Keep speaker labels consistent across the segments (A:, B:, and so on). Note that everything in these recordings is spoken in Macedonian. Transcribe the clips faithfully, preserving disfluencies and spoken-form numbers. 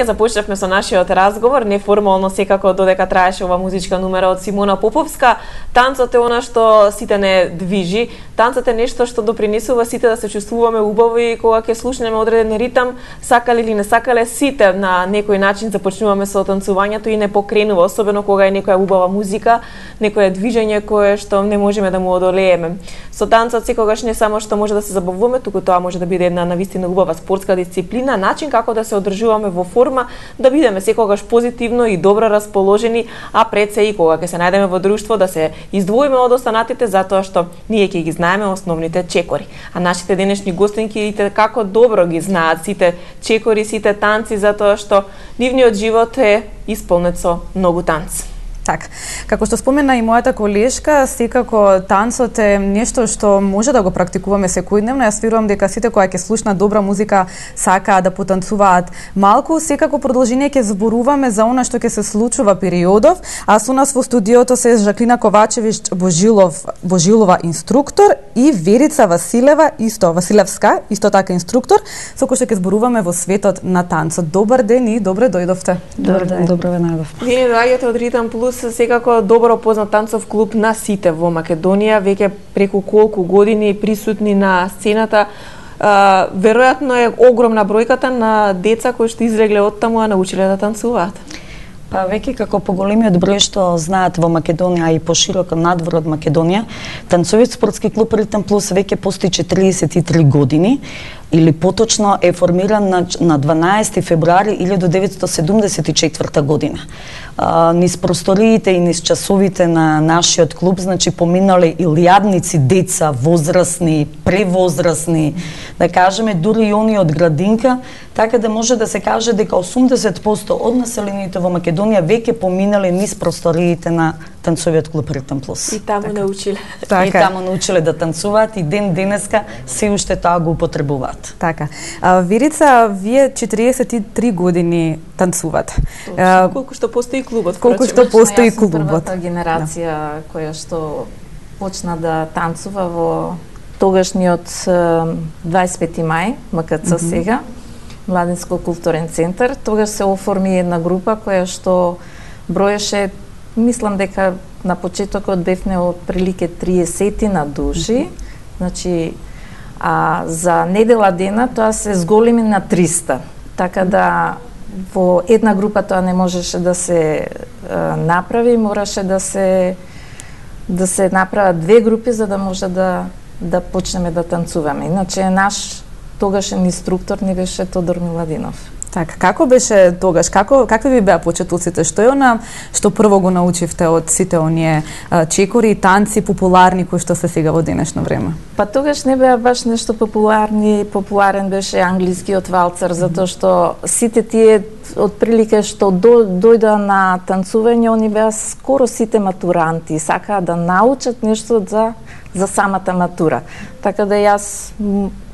A: Ќе започнавме со нашиот разговор, неформално секако додека траеше ова музичка numera од Симона Поповска. Танцот е она што сите не движи, танцот е нешто што допринесува сите да се чувствуваме убаво и кога ќе слушнеме одреден ритам, сакале или не сакале, сите на некој начин започнуваме со танцувањето и не покренува, особено кога е некоја убава музика, некое движење кое што не можеме да му одолееме. Со танцот секогаш не само што може да се забавуваме, туку тоа може да биде една навистина убава спортска дисциплина, начин како да се одржуваме во форма, да бидеме секогаш позитивно и добро расположени, а пред се и кога ќе се најдеме во друштво да се издвоиме од останатите затоа што ние ќе ги знаеме основните чекори. А нашите денешни гостинки како добро ги знаат сите чекори, сите танци, затоа што нивниот живот е исполнет со многу танци.
B: Так, како што спомена и мојата колешка, секако танцот е нешто што може да го практикуваме секојдневно. Јас верувам дека сите кои ќе слушнат добра музика сакаат да потанцуваат малку. Секако продолжение ќе зборуваме за она што ќе се случува периодов, а со нас во студиото се Жаклина Ковачевич Божилов, Божилова инструктор и Верица Василева, исто Василевска, исто така инструктор, со кој што ќе зборуваме во светот на танцот. Добар ден и добре дојдовте.
C: Добар ден, добро ве најдов.
A: Вие доаѓате од Ритам Плюс, секако добро познат танцов клуб на сите во Македонија, веќе преку колку години присутни на сцената. А, веројатно е огромна бројката на деца кои што излегле од таму, а научиле да танцуваат.
C: Па веќе како поголемиот број што знаат во Македонија и пошироко надвор од Македонија, танцовиот спортски клуб Ритам Плюс веќе постои четириесет и три години, или поточно е формиран на, на дванаесети февруари илјадум деветстотини седумдесет и четврта година. А, низ просториите и низ часовите на нашиот клуб, значи поминале илјадници деца, возрастни, превозрастни, да кажеме дури и они од градинка, така да може да се каже дека осумдесет проценти од населението во Македонија веќе поминале низ просториите на танцовиот клуб Ритам Плюс.
A: И таму
C: така.
A: научиле.
C: Така. И таму научиле да танцуваат и ден денеска се уште тоа го употребуваат.
B: Така. А, Верица, вие четириесет и три години танцувате.
A: А, колку што постои клубот?
B: Колку што постои клубот?
D: Првата генерација да. која што почна да танцува во тогашниот дваесет и пети мај, М К Ц mm -hmm. сега, Младинско културен центар. Тогаш се оформи една група која што броеше, мислам дека на почетокот бевме од прилike триесет на души, mm -hmm. значи а за недела дена тоа се зголеми на триста. Така да во една група тоа не можеше да се а, направи, мораше да се да се направат две групи за да може да да почнеме да танцуваме. Иначе наш тогашен инструктор не беше Тодор Миладинов.
B: Така, како беше тогаш? Како какви ви беа почетоците? Што е она што прво го научивте од сите оние а, чекори и танци популарни кои што се сега во денешно време?
D: Па тогаш не беа баш нешто популарни, популарен беше англискиот валцер, затоа што сите тие од прилика што до, дојда на танцување, они беа скоро сите матуранти, сакаа да научат нешто за за самата матура. Така да јас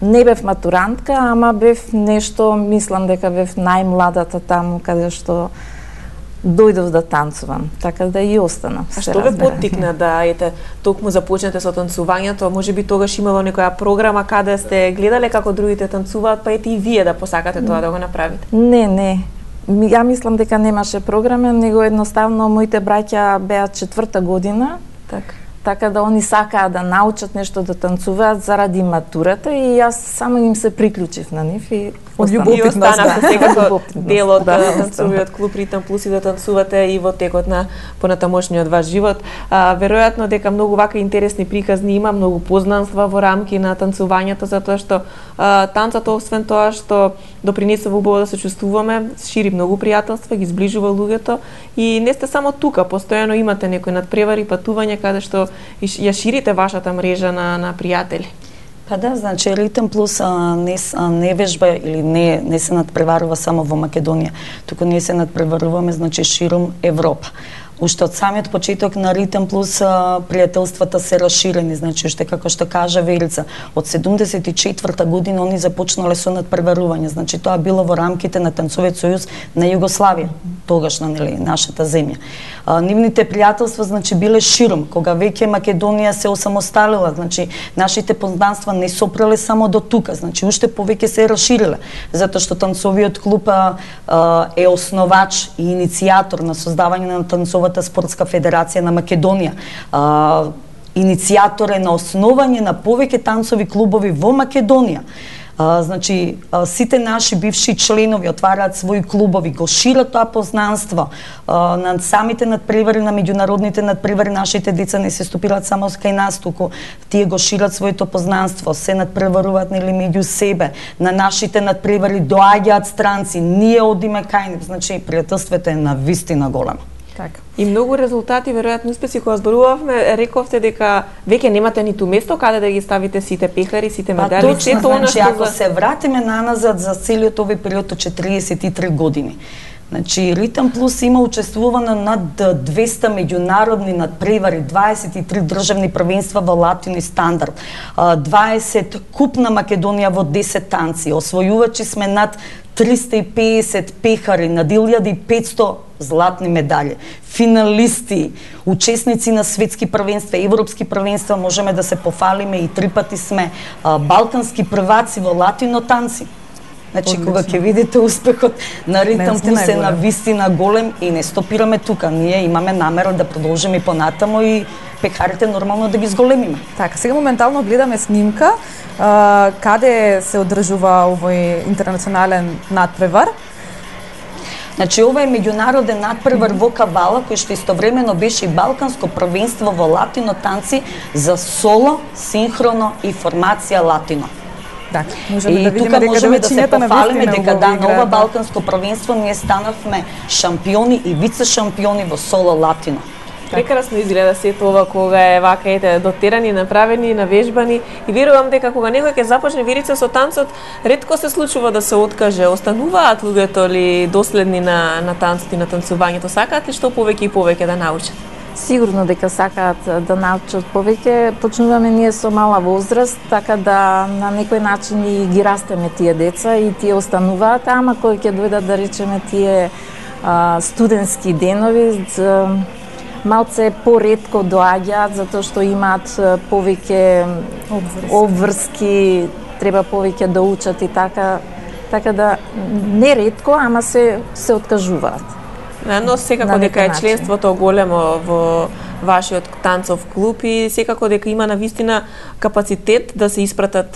D: не бев матурантка, ама бев нешто, мислам дека бев најмладата таму каде што дојдов да танцувам, така да и останав.
A: А што ве поттикна да ете токму започнете со танцувањето? Можеби тогаш имало некоја програма каде сте гледале како другите танцуваат, па ете и вие да посакате тоа да го направите?
D: Не, не. Ја мислам дека немаше програма, него едноставно моите браќа беа четврта година.
A: Така.
D: Така да они сакаа да научат нешто да танцуваат заради матурата и јас само им се приклучив на нив и
B: од љубовност
A: останавте секако дел од да, танцовиот клуб Ритам Плюс и да танцувате и во текот на понатамошниот ваш живот. А, веројатно дека многу вака интересни приказни има, многу познанства во рамки на танцувањето, затоа што а, танцот освен тоа што допринесува убаво да се чувствуваме, шири многу пријателства, ги зближува луѓето и не сте само тука, постојано имате некои надпревари, патувања каде што ја ширите вашата мрежа на на пријатели.
C: Па да, значи Ритам Плюс а, не, а, не вежба или не, не се надпреварува само во Македонија, туку ние се надпреваруваме значи широм Европа. Уште од самиот почеток на Ритм Плюс пријателствата се расширени, значи уште како што кажа Верица, од седумдесет и четврта година они започнале со надпреварување, значи тоа било во рамките на Танцовиот сојуз на Југославија, тогаш на нели нашата земја. А, нивните пријателства значи биле широм, кога веќе Македонија се осамосталила, значи нашите познанства не сопреле само до тука, значи уште повеќе се расшириле, затоа што Танцовиот клуб а, е основач и иницијатор на создавање на Танцовата спортска федерација на Македонија. А, иницијатор е на основање на повеќе танцови клубови во Македонија. А, значи, а, сите наши бивши членови отвараат своји клубови, го шират тоа познанство. А, на самите надпревари, на меѓународните надпревари, нашите деца не се стопираат само кај нас, туку тие го шират своето познанство, се надпреваруваат нели меѓу себе. На нашите надпревари доаѓаат странци, ние одиме кај нив, значи пријателството е навистина големо.
A: Така. И многу резултати, веројатно успеси, кога зборувавме, рековте дека веќе немате ниту место каде да ги ставите сите пехари, сите медали,
C: па,
A: сето она
C: значи,
A: што
C: ако
A: за...
C: се вратиме наназад за целиот овој период од четириесет и три години. Значи, Ритм Плюс има учествувано над двеста меѓународни надпревари, дваесет и три државни првенства во латино и стандард, дваесет куп на Македонија во десет танци, освојувачи сме над триста и песет пехари, над илјада и петсто златни медали, финалисти, учесници на светски првенства, европски првенства, можеме да се пофалиме и три пати сме а, балкански прваци во латино танци. Значи, кога ќе видите успехот на Ритм Плюс е на вистина голем и не стопираме тука. Ние имаме намера да продолжиме и понатамо и пекарите нормално да ги зголемиме.
B: Така, сега моментално гледаме снимка а, каде се одржува овој интернационален надпревар.
C: Значи, ова е меѓународен надпревар во Кавала, кој што истовремено беше и балканско првенство во латино танци за соло, синхроно и формација латино.
B: Так,
C: можеме и да тука можеме да се пофалиме дека да, на ова балканско првенство ние станавме шампиони и вице шампиони во соло латино.
A: Прекрасно изгледа сето ова кога е вака ете дотерани, направени, навежбани и верувам дека кога некој ќе започне Верица со танцот, ретко се случува да се откаже. Остануваат луѓето ли доследни на на танцот и на танцувањето? Сакаат ли што повеќе и повеќе да научат?
D: Сигурно дека сакаат да научат повеќе. Почнуваме ние со мала возраст, така да на некој начин и ги растеме тие деца и тие остануваат, ама кои ќе дојдат да речеме тие а, студентски денови, малце поретко доаѓаат затоа што имаат повеќе обврски. обврски, треба повеќе да учат и така, така да не ретко, ама се се откажуваат.
A: Но секако дека е членството големо во вашиот танцов клуб и секако дека има навистина капацитет да се испратат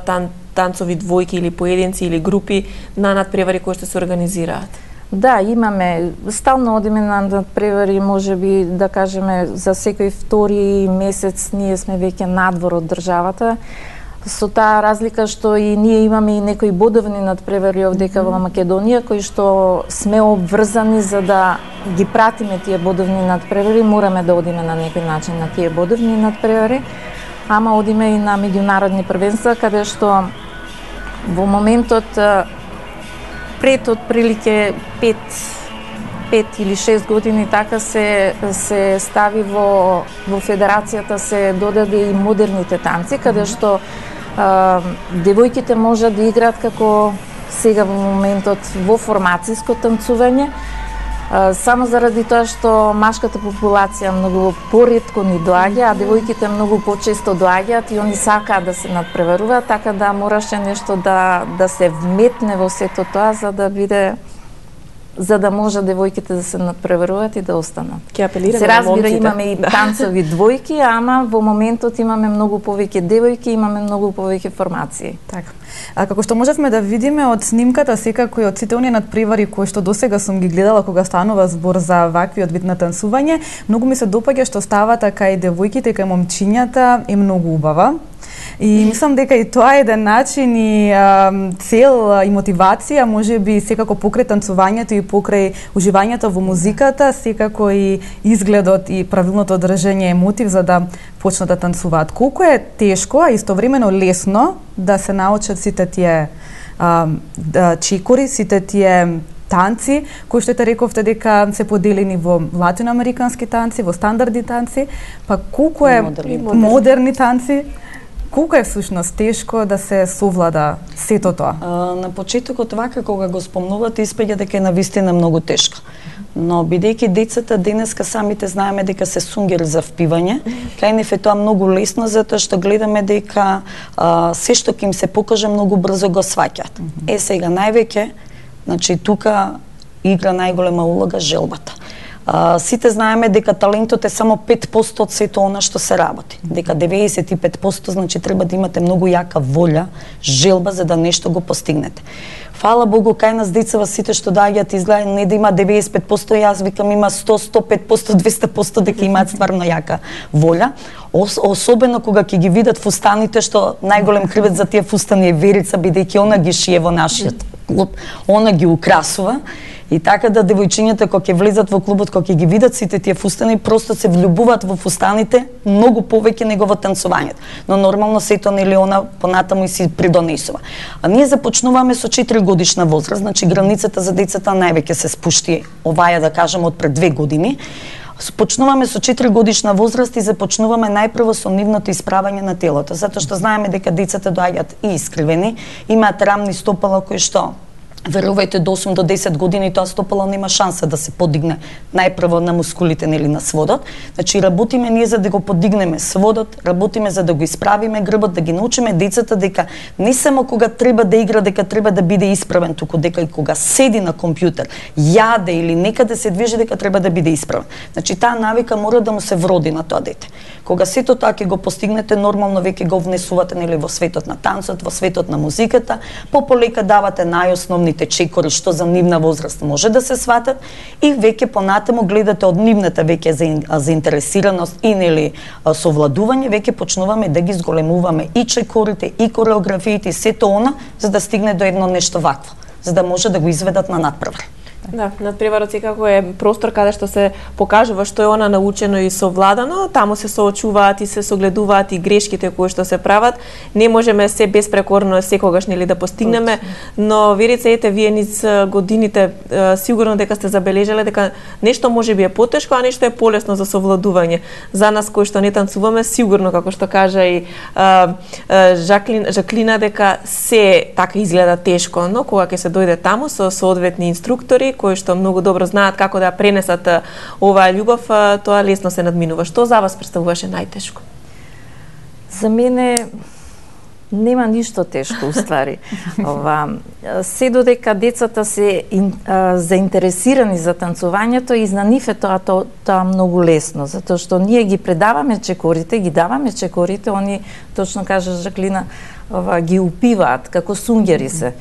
A: тан, танцови двојки или поединци или групи на надпревари кои што се организираат.
D: Да, имаме, стално одиме на надпревари, можеби да кажеме за секој втори месец ние сме веќе надвор од државата. Со таа разлика што и ние имаме и некои бодовни надпревари овдека во Македонија, кои што сме обврзани за да ги пратиме тие бодовни надпревари, мораме да одиме на некој начин на тие бодовни надпревари, ама одиме и на меѓународни првенства, каде што во моментот пред отприлike пет пет или шест години така се се стави во во федерацијата се додаде и модерните танци, каде што а, девојките можат да играат како сега во моментот во формациско танцување, а, само заради тоа што машката популација многу поретко ни доаѓа, а девојките многу почесто доаѓаат и они сакаат да се надпреваруваат, така да мораше нешто да да се вметне во сето тоа за да биде за да може девојките да се надпреваруваат и да останат.
A: Ќе апелираме
D: се разбира,
A: на момците.
D: имаме и танцови двојки, ама во моментот имаме многу повеќе девојки, имаме многу повеќе формации.
B: Така. А како што можевме да видиме од снимката, секако и од сите оние надпревари кои што досега сум ги гледала кога станува збор за ваквиот вид на танцување, многу ми се допаѓа што ставата кај девојките, кај момчињата е многу убава. И мислам дека и тоа е еден начин и а, цел и мотивација, можеби секако покрај танцувањето и покрај уживањето во музиката, секако и изгледот и правилното одржање е мотив за да почнат да танцуваат. Колку е тешко, а истовремено лесно да се научат сите тие а, да, чекори, сите тие танци, кои што те рековте дека се поделени во латиноамерикански танци, во стандардни танци, па колку е
C: модерни,
B: модерни танци, колку е всушност тешко да се совлада сето тоа?
C: А, на почетокот вака кога го спомнувате испаѓа дека е навистина многу тешко. Но бидејќи децата денеска самите знаеме дека се сунгери за впивање, кај нив е тоа многу лесно затоа што гледаме дека а, се што ќе им се покаже многу брзо го сваќаат. Mm -hmm. Е сега највеќе, значи тука игра најголема улога желбата. А, сите знаеме дека талентот е само пет посто од сето она што се работи. Дека деветдесет и пет посто значи треба да имате многу јака волја, желба за да нешто го постигнете. Фала Богу, кај нас децава сите што доаѓаат изгледа не да има деветдесет и пет посто, јас викам има сто, сто и пет посто, двесте посто дека имаат стварно јака волја. Ос, особено кога ќе ги видат фустаните, што најголем кривец за тие фустани е Верица, бидејќи она ги шие во нашиот клуб, она ги украсува. И така да девојчињата кога ќе влезат во клубот, кога ќе ги видат сите тие фустани, просто се влюбуваат во фустаните многу повеќе него во танцувањето. Но нормално сето нели она понатаму и си придонесува. А ние започнуваме со четири годишна возраст, значи границата за децата највеќе се спушти, оваја да кажам од пред две години. Почнуваме со четири годишна возраст и започнуваме најпрво со нивното исправање на телото, затоа што знаеме дека децата доаѓаат и искривени, имаат рамни стопала кои што верувајте до осум до десет години тоа стопало нема шанса да се подигне најпрво на мускулите или на сводот. Значи работиме ние за да го подигнеме сводот, работиме за да го исправиме грбот, да ги научиме децата дека не само кога треба да игра дека треба да биде исправен, туку дека и кога седи на компјутер, јаде или некаде се движи дека треба да биде исправен. Значи таа навика мора да му се вроди на тоа дете. Кога сето тоа ќе го постигнете, нормално веќе го внесувате нели во светот на танцот, во светот на музиката, пополека давате најосновни чекори што за нивна возраст може да се сватат и веќе понатаму гледате од нивната веќе за заинтересираност и нели совладување, веќе почнуваме да ги зголемуваме и чекорите и кореографиите и сето она за да стигне до едно нешто вакво, за да може да го изведат на надпревар.
A: Да, надпреварот секако е простор каде што се покажува што е она научено и совладано, таму се соочуваат и се согледуваат и грешките кои што се прават. Не можеме се безпрекорно секогаш нели да постигнеме, но Верица, ете вие низ годините сигурно дека сте забележале дека нешто можеби е потешко, а нешто е полесно за совладување. За нас кои што не танцуваме, сигурно како што кажа и а, а, Жаклин, Жаклина дека се така изгледа тешко, но кога ќе се дојде таму со соодветни инструктори кои што многу добро знаат како да пренесат оваа љубов, тоа лесно се надминува. Што за вас представуваше најтешко?
D: За мене нема ништо тешко уствари. Ова се додека децата се ин, а, заинтересирани за танцувањето и за нив е тоа, тоа тоа многу лесно, затоа што ние ги предаваме чекорите, ги даваме чекорите, они точно кажа Жаклина, ова ги упиваат како сунгери се.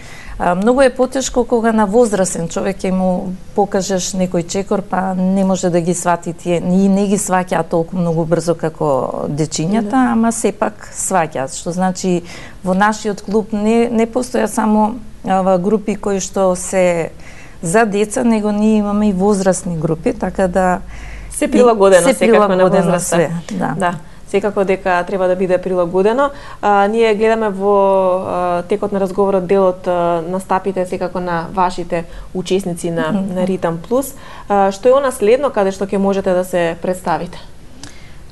D: А, многу е потешко кога на возрасен човек ќе му покажеш некој чекор, па не може да ги свати тие, и не ги сваќаат толку многу брзо како дечињата, да. Ама сепак сваќаат, што значи во нашиот клуб не не постојат само ава, групи кои што се за деца, него ние имаме и возрастни групи, така да
A: се прилагодено
D: се
A: секако
D: прилагодено
A: на возраста.
D: све, да.
A: Да. Секако дека треба да биде прилагодено. А, ние гледаме во а, текот на разговорот делот а, настапите секако на вашите учесници на, mm-hmm. на Ритам Плюс. А, што е она следно каде што ќе можете да се представите?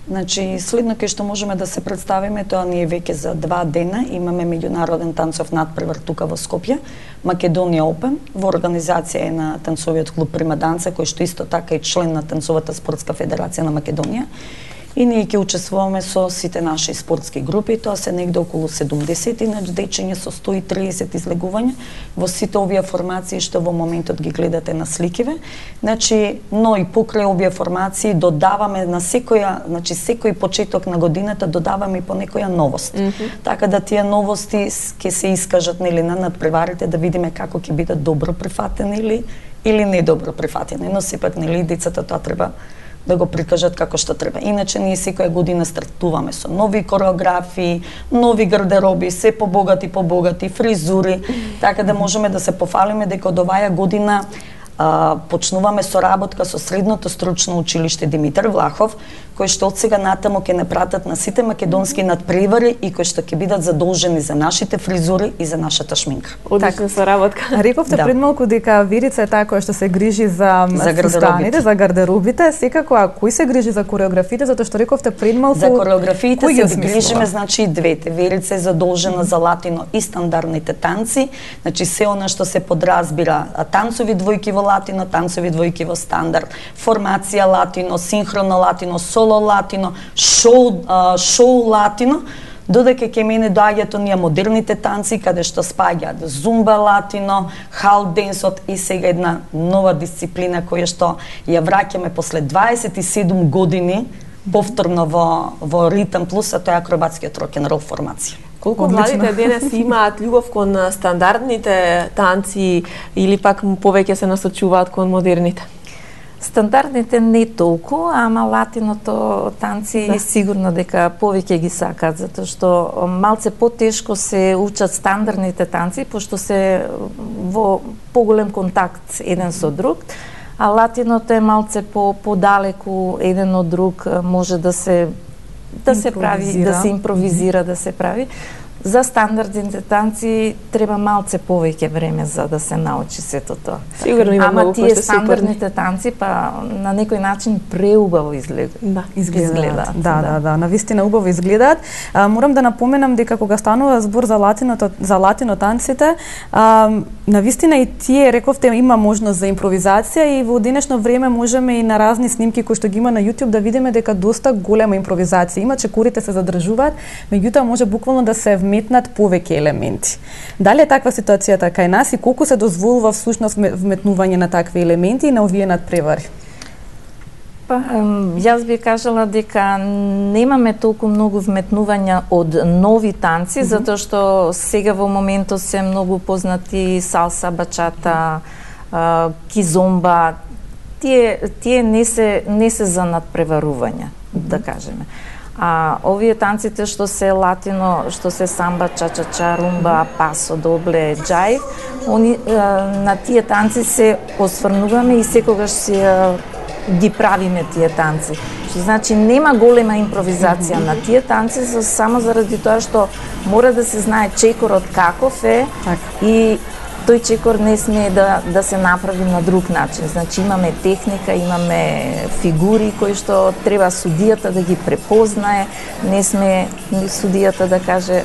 C: Значи, следно кај што можеме да се представиме, тоа ние веќе за два дена имаме меѓународен танцов надпревар тука во Скопје, Македонија Опен, во организација е на танцовиот клуб Прима Данца, кој што исто така е член на Танцовата спортска федерација на Македонија. И ние ќе учествуваме со сите наши спортски групи, тоа се негде околу седумдесет дечиња со сто и триесет излегувања во сите овие формации што во моментот ги гледате на сликиве. Значи, но и покрај овие формации додаваме на секоја, значи секој почеток на годината додаваме и по некоја новост. Mm-hmm. Така да тие новости ќе се искажат нели на надпреварите да видиме како ќе бидат добро прифатени или или не добро прифатени, но сепак нели децата тоа треба да го прикажат како што треба. Иначе ние секоја година стартуваме со нови кореографии, нови гардероби, се побогати, побогати фризури, така да можеме да се пофалиме дека од оваја година а, почнуваме соработка со Средното стручно училиште Димитар Влахов, кои што од сега натаму ќе не пратат на сите македонски надпревари и кои што ќе бидат задолжени за нашите фризури и за нашата шминка.
A: Одлична соработка.
B: Рековте
C: Да.
B: пред малку дека Верица е таа која што се грижи за
C: За
B: фустаните, за гардеробите, секако а кој се грижи за кореографите, затоа што рековте пред малку
C: За кореографиите
B: кој
C: се
B: ги осмислува?
C: грижиме, значи и двете. Верица е задолжена за латино и стандардните танци, значи се она што се подразбира танцови двојки во латино, танцови двојки во стандард, формација латино, синхроно латино, соло латино, шоу, а, шоу латино, додека ке мене доаѓаат оние модерните танци каде што спаѓаат зумба латино, хал денсот и сега една нова дисциплина која што ја враќаме после дваесет и седум години повторно во во ритам плюс, а тоа е акробатскиот рок-н-рол формација.
A: Колку
B: Одлично.
A: младите денес имаат љубов кон стандардните танци или пак повеќе се насочуваат кон модерните?
D: Стандардните не толку, ама латиното танци
A: Да.
D: сигурно дека повеќе ги сакаат, затоа што малце потешко се учат стандардните танци, пошто се во поголем контакт еден со друг, а латиното е малце по подалеку еден од друг, може да се да се прави,
B: Импровизира.
D: да се импровизира, да се прави. За стандардните танци треба малце повеќе време за да се научи сето тоа.
A: Сигурно има
D: Ама
A: многу кои
D: тие
A: што се упорни.
D: стандардните танци па на некој начин преубаво изгледа.
A: Да.
B: Изгледаат.
D: Изгледаат,
B: Да,
D: да.
B: да, да, навистина убаво изгледаат. А, морам да напоменам дека кога станува збор за латиното, за латино танците, а, навистина и тие рековте има можност за импровизација и во денешно време можеме и на разни снимки кои што ги има на YouTube да видиме дека доста голема импровизација има, чекорите се задржуваат, меѓутоа може буквално да се вметнат повеќе елементи. Дали е таква ситуацијата кај нас и колку се дозволува всушност вметнување на такви елементи и на овие надпревари?
D: Па, ем, јас би кажала дека немаме толку многу вметнувања од нови танци, mm -hmm. затоа што сега во моментот се многу познати салса, бачата, а, кизомба. Тие тие не се не се за надпреварување, mm -hmm. да кажеме. А овие танците што се латино, што се самба, ча-ча-ча, румба, пасо, добле, джајв, они а, на тие танци се осврнуваме и секогаш се а, ги правиме тие танци. Што значи нема голема импровизација mm -hmm. на тие танци, за, само заради тоа што мора да се знае чекорот каков е
B: Така.
D: и тој чекор не смее да, да се направи на друг начин. Значи имаме техника, имаме фигури кои што треба судијата да ги препознае, не смее судијата да каже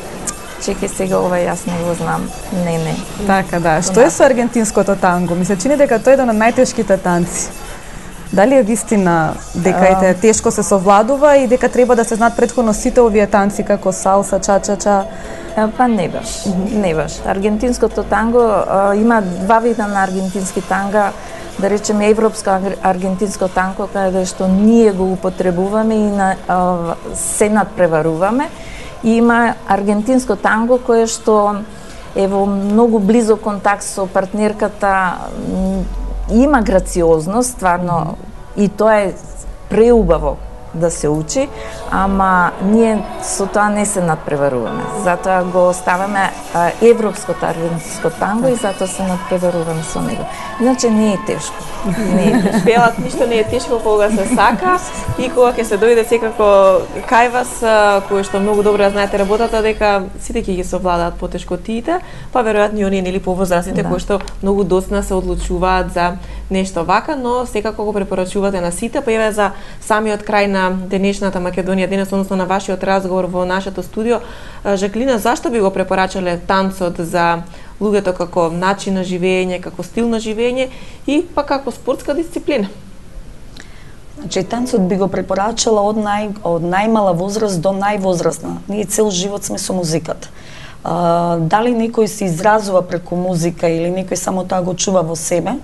D: чекај сега ова јас не го знам. Не, не.
B: Така да. Што е со аргентинското танго? Ми се чини дека тоа е еден од најтешките танци. Дали е вистина дека ете тешко се совладува и дека треба да се знаат претходно сите овие танци како салса, ча-ча-ча?
D: Па не баш, mm -hmm. не баш. Аргентинското танго а, има два вида на аргентински танга, да речеме европско аргентинско танго, каде што ние го употребуваме и на, а, се надпреваруваме. И има аргентинско танго кое што е во многу близок контакт со партнерката, има грациозност, стварно, mm -hmm. и тоа е преубаво да се учи, ама ние со тоа не се надпреваруваме. Затоа го оставаме а, европското аргентинско танго и затоа се надпреваруваме со него. Иначе не е тешко. Не е тешко.
A: Пеелат ништо не е тешко кога се сака и кога ќе се дојде секако кај вас, кој што многу добро знаете работата, дека сите ќе ги совладаат потешкотиите, па веројатно и оние нели повозрастните
D: Да.
A: кои што многу доцна се одлучуваат за нешто вака, но секако го препорачувате на сите, па еве за самиот крај на денешната Македонија денес, односно на вашиот разговор во нашето студио, Жаклина, зашто би го препорачале танцот за луѓето како начин на живење, како стил на живење и па како спортска дисциплина?
C: Значи, танцот би го препорачала од, нај, од најмала возраст до највозрастна. Ние цел живот сме со музиката. А, дали некој се изразува преку музика или некој само тоа го чува во себе,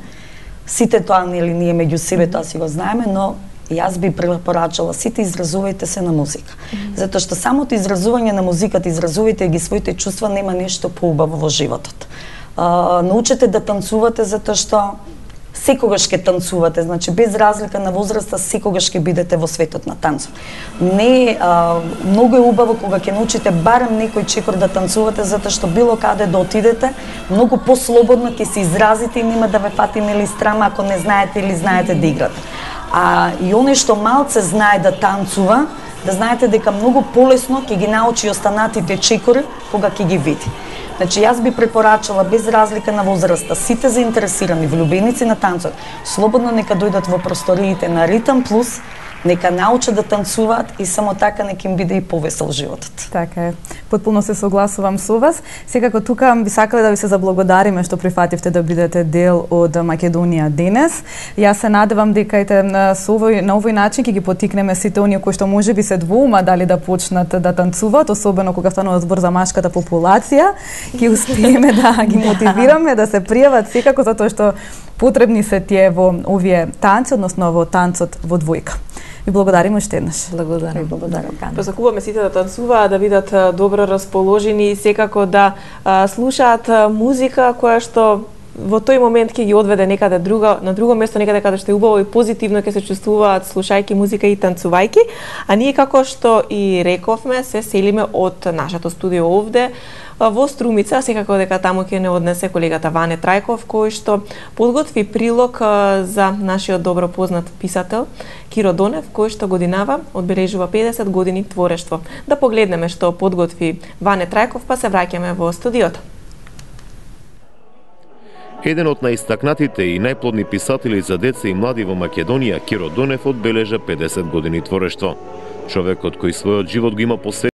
C: сите тоа нели ние меѓу себе тоа си го знаеме, но јас би препорачала сите изразувајте се на музика. Mm -hmm. Затоа што самото изразување на музиката, изразувајте ги своите чувства, нема нешто поубаво во животот. А, научете да танцувате затоа што секогаш ќе танцувате, значи без разлика на возраста, секогаш ќе бидете во светот на танцот. Не, а, многу е убаво кога ќе научите барем некој чекор да танцувате, затоа што било каде да отидете, многу послободно ќе се изразите и нема да ве фати нели страма ако не знаете или знаете да играте. А и оне што малце знае да танцува, да знаете дека многу полесно ќе ги научи останатите чекори кога ќе ги види. Значи, јас би препорачала без разлика на возраста, сите заинтересирани влюбеници на танцот, слободно нека дојдат во просториите на Ритам Плюс, нека научат да танцуваат и само така нека им биде и повесел животот.
B: Така е. Потпуно се согласувам со вас. Секако тука би сакале да ви се заблагодариме што прифативте да бидете дел од Македонија денес. Јас се надевам дека ете со овој на овој начин ќе ги поттикнеме сите оние кои што можеби се двоума дали да почнат да танцуваат, особено кога станува збор за машката популација, ќе успееме да ги мотивираме да се пријават секако затоа што потребни се тие во овие танци, односно во танцот во двојка. Ви благодариме уште еднаш.
D: Благодарам. Благодарам.
A: Посакуваме сите да танцуваат, да бидат добро расположени и секако да а, слушаат музика која што во тој момент ќе ги одведе некаде друга, на друго место, некаде каде што е убаво и позитивно ќе се чувствуваат слушајќи музика и танцувајќи. А ние, како што и рековме, се селиме од нашето студио овде во Струмица, секако дека таму ќе не однесе колегата Ване Трајков, кој што подготви прилог за нашиот добро познат писател Киро Донев, кој што годинава одбележува педесет години творештво. Да погледнеме што подготви Ване Трајков, па се враќаме во студиото.
E: Еден од најистакнатите и најплодни писатели за деца и млади во Македонија, Киро Донев одбележа педесет години творештво. Човекот кој својот живот го има посветен